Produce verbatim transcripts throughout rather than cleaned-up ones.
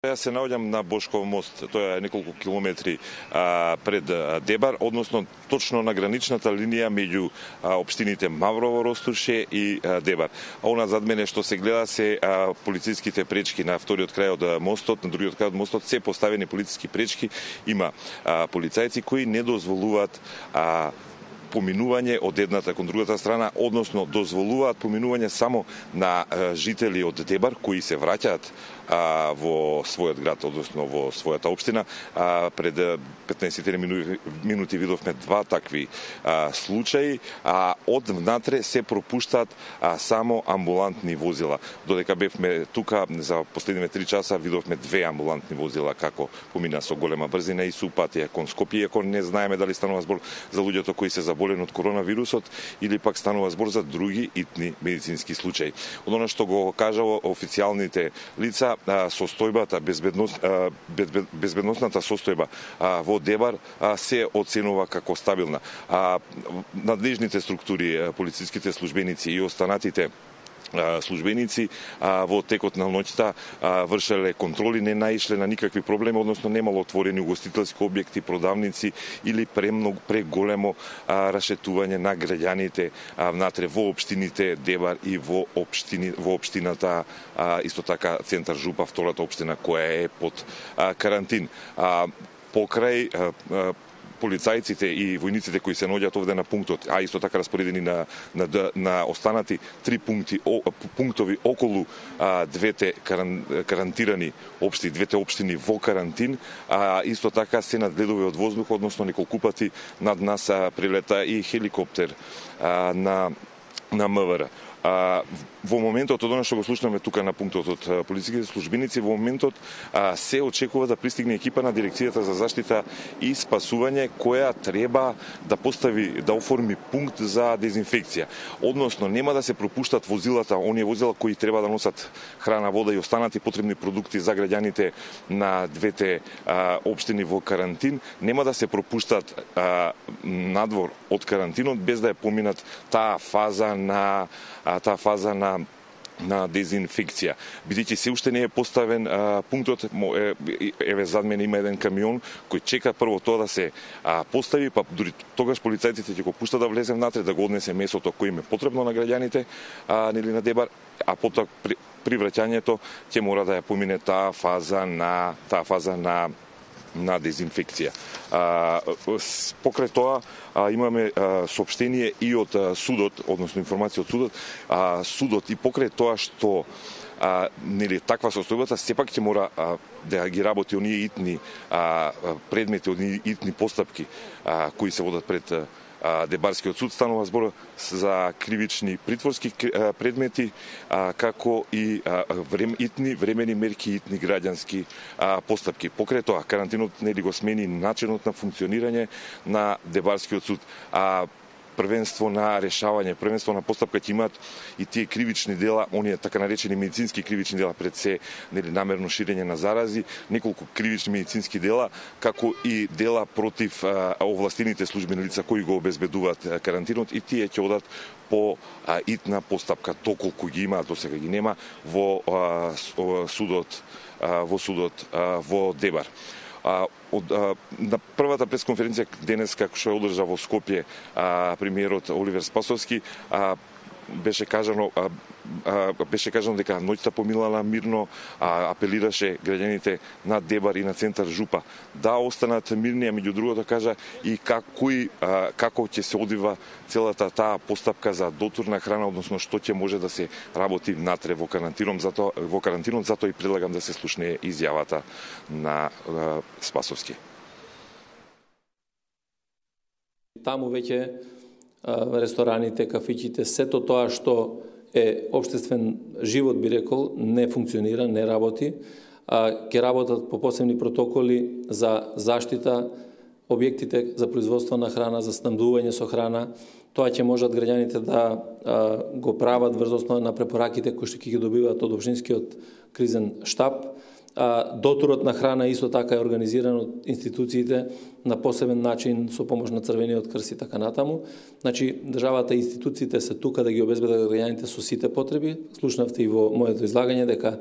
Јас се наоѓам на Бошков мост, тоа е неколку километри а, пред а, Дебар, односно точно на граничната линија меѓу а, општините Маврово, Ростуше и а, Дебар. А она зад мене што се гледа се а, полициските пречки на вториот крај од мостот, на другиот крај од мостот се поставени полициски пречки, има а, полицајци кои не дозволуваат а, поминување од едната кон другата страна, односно дозволуваат поминување само на а, жители од Дебар кои се враќаат а, во својот град, односно во својата општина. А, пред петнаесет минути, минути видовме два такви а, случаи, а од внатре се пропуштаат а, само амбулантни возила. Додека бевме тука за последниве три часа видовме две амбулантни возила како помина со голема брзина и се упатија кон Скопје, иако не знаеме дали станува збор за луѓето кои се заболени од коронавирусот или пак станува збор за други итни медицински случаи. Од она што го кажало официјалните лица, состојбата, безбедност, безбедносната состојба во Дебар се оценува како стабилна. Надлежните структури, полициските службеници и останатите службеници во текот на ноќта вршеле контроли, не наишле на никакви проблеми, односно немало отворени угостителски објекти, продавници или премногу преголемо рашетување на граѓаните внатре во општините Дебар и во општини во општината исто така Центар Жупа, втората општина која е под карантин. Покрај полицајците и војниците кои се наоѓаат овде на пунктот, а исто така распоредени на на, на останати три пункти о, пунктови околу а, двете каран, карантирани општи, двете општини во карантин, а исто така се надгледува од воздух, односно неколку пати над нас а, прилета и хеликоптер а, на на МВР. А, во моментот од она што го слушнаме тука на пунктот од полициските службеници, во моментот а, се очекува да пристигне екипа на Дирекцијата за заштита и спасување која треба да постави, да оформи пункт за дезинфекција. Односно нема да се пропуштат возилата, оние возила кои треба да носат храна, вода и останати потребни продукти за граѓаните на двете а, општини во карантин, нема да се пропуштат а, надвор од карантинот без да е поминат таа фаза на а, таа фаза на на дезинфекција. Бидејќи се уште не е поставен а, пунктот, е, еве зад мене има еден камион кој чека прво тоа да се а, постави, па дури тогаш полицајците ќе го пушта да влезе внатре, да го однесе месото кој им е потребно на граѓаните, а, нели на Дебар, а потоа при, при враќањето ќе мора да ја помине таа фаза на таа фаза на на дезинфекција. А, покрај тоа а, имаме а, соопштение и од а, судот, односно информација од судот, а, судот и покрај тоа што а, нели таква состојбата сепак ќе мора а, да ги работи оние итни а, предмети, оние итни постапки а, кои се водат пред а, Дебарскиот суд. Станува збор за кривични притворски предмети, како и врем, итни времени мерки, итни граѓански постапки. Покрај тоа, карантинот нели го смени начинот на функционирање на Дебарскиот суд. А првенство на решавање, првенство на постапка ќе имаат и тие кривични дела, оние така наречени медицински кривични дела, пред се нели намерно ширење на зарази, неколку кривични медицински дела, како и дела против а, овластените службени лица кои го обезбедуваат а, карантинот, и тие ќе одат по а, итна постапка, доколку ги имаат, досега ги нема, во а, судот, а, во судот а, во Дебар. А, од, а, на првата пресконференција денес, како што ја одржа во Скопје а, премиерот Оливер Спасовски, а, беше кажано а, а, беше кажано дека ноќта поминала мирно, а, апелираше граѓаните на Дебар и на Центар Жупа да останат мирни, а меѓу другото кажа и како, а, како ќе се одвива целата таа постапка за дотурна храна, односно што ќе може да се работи внатре во карантинот, затоа во карантинот, затоа и предлагам да се слушне изјавата на а, Спасовски. Таму веќе рестораните, кафичите, сето тоа што е општествен живот, би рекол, не функционира, не работи. Ќе работат по посебни протоколи за заштита објектите за производство на храна, за снабдување со храна. Тоа ќе можат граѓаните да а, го прават врз основа на препораките кои што ќе ги добиваат од општинскиот кризен штаб. А, дотурот на храна исто така е организиран од институциите на посебен начин со помош на Црвениот крст и така натаму. Значи, државата и институциите се тука да ги обезбедат граѓаните со сите потреби. Слушнавте и во моето излагање дека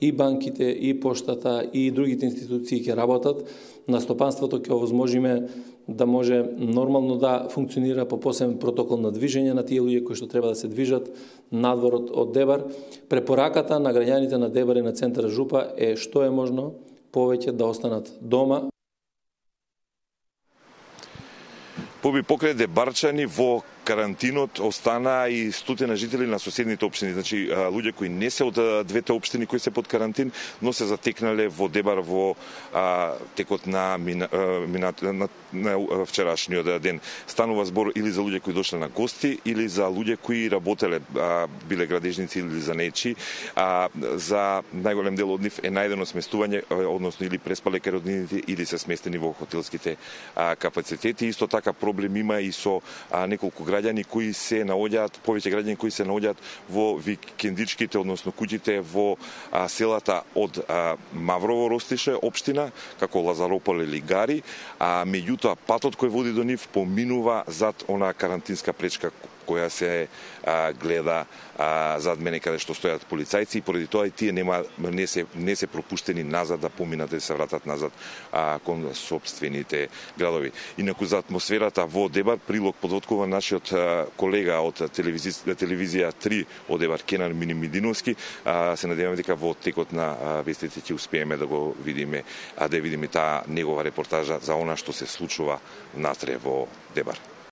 и банките, и поштата, и другите институции ќе работат, на стопанството ќе овозможиме да може нормално да функционира по посебен протокол на движење на тие луѓе кои што треба да се движат надвор од, од Дебар. Препораката на граѓаните на Дебар и на центар Жупа е што е можно повеќе да останат дома. Поби покрај дебарчани во карантинот остана и стотина жители на соседните општини, значи луѓе кои не се од двете општини кои се под карантин, но се затекнале во Дебар во а, текот на, мина, мина, на, на вчерашниот ден. Станува збор или за луѓе кои дошле на гости, или за луѓе кои работеле, а, биле градежници или занечи. А, за најголем дел од нив е најдено сместување, односно или преспале кај роднините, или се сместени во хотелските а, капацитети. Исто така проблем има и со а, неколку граѓани кои се наоѓаат, повеќе граѓани кои се наоѓаат во викендичките, односно куќите во а, селата од а, Маврово Ростише општина, како Лазаропол или Гари, а меѓутоа патот кој води до нив поминува зад она карантинска пречка која се а, гледа а, зад мене каде што стојат полицајци, и поради тоа и тие нема не се не се пропуштени назад да поминат и да се вратат назад а, кон собствените градови. Инаку за атмосферата во Дебар прилог подоткува нашиот а, колега од телевизија, телевизија три од Дебар, Кенан Минимидиновски. А, се надеваме дека во текот на а, вестите ќе успееме да го видиме, а да видиме таа негова репортажа за она што се случува натре во Дебар.